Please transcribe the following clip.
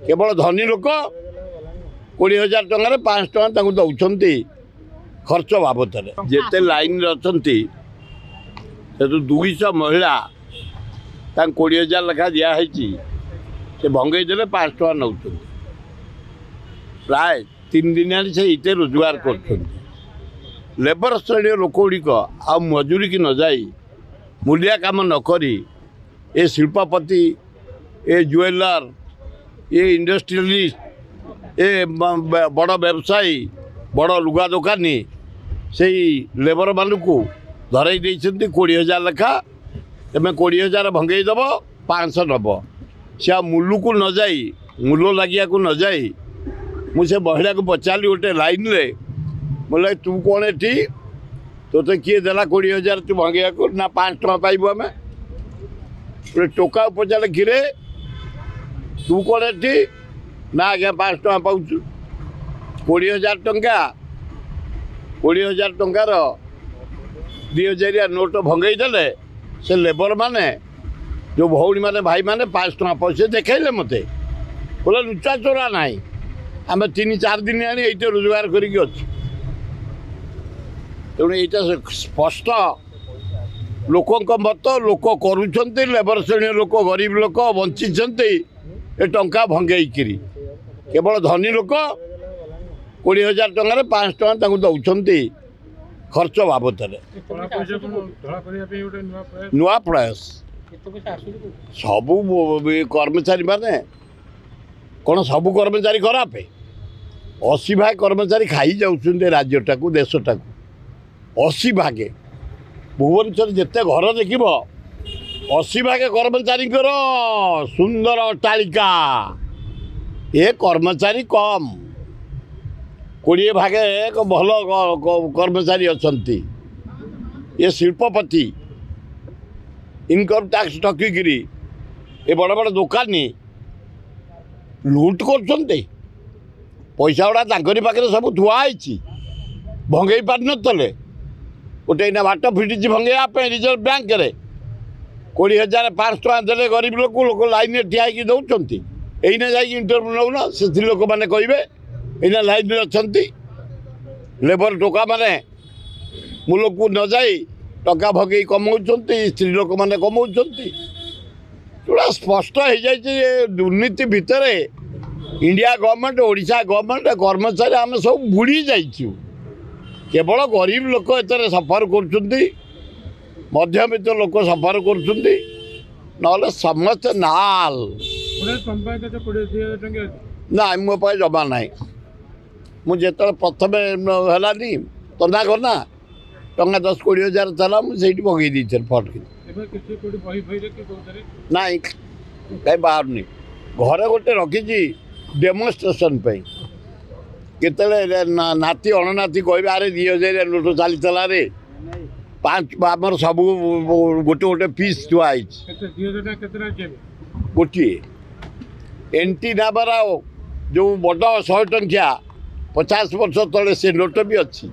କେବଳ ଧନୀ ଲୋକ 20,000 ଟଙ୍କାରେ 500 ଟଙ୍କା ତାଙ୍କୁ ଦେଉଛନ୍ତି ଖର୍ଚ୍ଚ ବାବଦରେ। ଯେତେ ଲାଇନ୍ରେ ଅଛନ୍ତି ସେଠୁ 200 ମହିଳା ତାଙ୍କୁ 20,000 ଲେଖା ଦିଆହେଇଛି, ସେ ଭଙ୍ଗେଇ ଦେଲେ 500 ଟଙ୍କା ନେଉଛନ୍ତି। ପ୍ରାୟ 3 ଦିନ ହେଲାଣି ସେ ଏଇତେ ରୋଜଗାର କରୁଛନ୍ତି। ଲେବର ଶ୍ରେଣୀୟ ଲୋକ ଗୁଡ଼ିକ ଆଉ ମଜୁରିକି ନ ଯାଇ ମୂଲିଆ କାମ ନ କରି ଏ ଶିଳ୍ପପତି, ଏ ଜୁଏଲର, ଏ ଇଣ୍ଡଷ୍ଟ୍ରିଆଲିଷ୍ଟ, ଏ ବଡ଼ ବ୍ୟବସାୟୀ, ବଡ଼ ଲୁଗା ଦୋକାନୀ ସେଇ ଲେବରମାନଙ୍କୁ ଧରାଇ ଦେଇଛନ୍ତି 20,000 ଲେଖା। ତୁମେ 20,000 ଭଙ୍ଗେଇ ଦେବ, 500 ନେବ। ସେ ଆଉ ମୂଲକୁ ନ ଯାଇ, ମୂଲ ଲାଗିବାକୁ ନ ଯାଇ, ମୁଁ ସେ ମହିଳାକୁ ପଚାରିଲି ଗୋଟେ ଲାଇନ୍ରେ, ବୋଲେ ତୁ କ'ଣ ଏଠି, ତୋତେ କିଏ ଦେଲା 20,000 ତୁ ଭଙ୍ଗେଇବାକୁ? ନା 5 ଟଙ୍କା ପାଇବୁ ଆମେ। ଗୋଟେ ଟୋକାକୁ ପଚାରିଲେ, କିରେ ତୁ କ'ଣ ଏଠି? ନା ଆଜ୍ଞା 5 ଟଙ୍କା ପାଉଛୁ। 20,000 ଟଙ୍କା, 20,000 ଟଙ୍କାର 2,000 ନୋଟ ଭଙ୍ଗେଇ ଦେଲେ ସେ ଲେବରମାନେ, ଯେଉଁ ଭଉଣୀମାନେ ଭାଇମାନେ 5 ଟଙ୍କା ପଇସା ଦେଖାଇଲେ ମୋତେ। ବୋଲେ ଲୁଚା ଚୋରା ନାହିଁ, ଆମେ 3-4 ଦିନ ଆଣି ଏଇଠି ରୋଜଗାର କରିକି ଅଛୁ। ତେଣୁ ଏଇଟା ସ୍ପଷ୍ଟ ଲୋକଙ୍କ ମତ, ଲୋକ କରୁଛନ୍ତି, ଲେବର ଶ୍ରେଣୀୟ ଲୋକ, ଗରିବ ଲୋକ ବଞ୍ଚିଛନ୍ତି ଏ ଟଙ୍କା ଭଙ୍ଗେଇକିରି। କେବଳ ଧନୀ ଲୋକ 20,000 ଟଙ୍କାରେ 5 ଟଙ୍କା ତାଙ୍କୁ ଦେଉଛନ୍ତି ଖର୍ଚ୍ଚ ବାବଦରେ। ନୂଆ ପ୍ରୟାସ। ସବୁ କର୍ମଚାରୀମାନେ କ'ଣ ସବୁ କର୍ମଚାରୀ ଖରାପ? 80 ଭାଗ କର୍ମଚାରୀ ଖାଇ ଯାଉଛନ୍ତି ରାଜ୍ୟଟାକୁ, ଦେଶଟାକୁ। 80 ଭାଗେ ଭୁବନେଶ୍ୱର ଯେତେ ଘର ଦେଖିବ 80 ଭାଗେ କର୍ମଚାରୀଙ୍କର ସୁନ୍ଦର ଅଟ୍ଟାଳିକା। ଏ କର୍ମଚାରୀ କମ୍, 20 ଭାଗେ ଭଲ କର୍ମଚାରୀ ଅଛନ୍ତି। ଏ ଶିଳ୍ପପତି ଇନକମ୍ ଟ୍ୟାକ୍ସ ଠକିକିରି ଏ ବଡ଼ ବଡ଼ ଦୋକାନୀ ଲୁଟ୍ କରୁଛନ୍ତି। ପଇସା ଗୁଡ଼ା ତାଙ୍କରି ପାଖରେ ସବୁ ଥୁଆ ହେଇଛି, ଭଙ୍ଗେଇ ପାରିନଥିଲେ। ଗୋଟେ ଏଇନା ବାଟ ଫିଟିଛି ଭଙ୍ଗେଇବା ପାଇଁ ରିଜର୍ଭ ବ୍ୟାଙ୍କରେ। 20,000 5 ଟଙ୍କା ଦେଲେ ଗରିବ ଲୋକ, ଲୋକ ଲାଇନ୍ରେ ଠିଆ ହେଇକି ଦେଉଛନ୍ତି। ଏଇନା ଯାଇକି ଇଣ୍ଟରଭ୍ୟୁ ନେଉନ, ସେ ସ୍ତ୍ରୀ ଲୋକମାନେ କହିବେ ଏଇନା ଲାଇନ୍ରେ ଅଛନ୍ତି। ଲେବର ଟୋକାମାନେ ମୂଲକୁ ନ ଯାଇ ଟଙ୍କା ଭଗେଇ କମାଉଛନ୍ତି, ସ୍ତ୍ରୀ ଲୋକମାନେ କମାଉଛନ୍ତି। ପୁରା ସ୍ପଷ୍ଟ ହେଇଯାଇଛି ଯେ ଦୁର୍ନୀତି ଭିତରେ ଇଣ୍ଡିଆ ଗଭର୍ଣ୍ଣମେଣ୍ଟ, ଓଡ଼ିଶା ଗଭର୍ଣ୍ଣମେଣ୍ଟ, କର୍ମଚାରୀ ଆମେ ସବୁ ବୁଡ଼ି ଯାଇଛୁ। କେବଳ ଗରିବ ଲୋକ ଏଥିରେ ସଫର କରୁଛନ୍ତି, ମଧ୍ୟବିତ୍ତ ଲୋକ ସଫର କରୁଛନ୍ତି, ନହେଲେ ସମସ୍ତେ ନାଲ। ନାଇଁ, ମୋ ପାଖେ ଜମା ନାହିଁ। ମୁଁ ଯେତେବେଳେ ପ୍ରଥମେ ହେଲାନି ତନା କନା ଟଙ୍କା 10-20 ହଜାର ଥିଲା, ମୁଁ ସେଇଠି ପକେଇ ଦେଇଥିଲି ଫଟକି। ନାଇଁ, କାହିଁ ବାହାରୁନି। ଘରେ ଗୋଟେ ରଖିଛି ଡେମୋନ୍ଷ୍ଟ୍ରେସନ୍ ପାଇଁ। କେତେବେଳେ ନାତି ଅଣନାତି କହିବେ, ଆରେ 2,000 ନୋଟ ଚାଲିଥିଲା ରେ, 5 ଆମର ସବୁ ଗୋଟେ ଗୋଟେ ପିସ୍ ଥୁଆ ହେଇଛି। ଗୋଟିଏ ଏଣ୍ଟି ନାବାର ଯେଉଁ ବଡ଼ 100 ଟଙ୍କିଆ 50 ବର୍ଷ ତଳେ ସେ ନୋଟ ବି ଅଛି।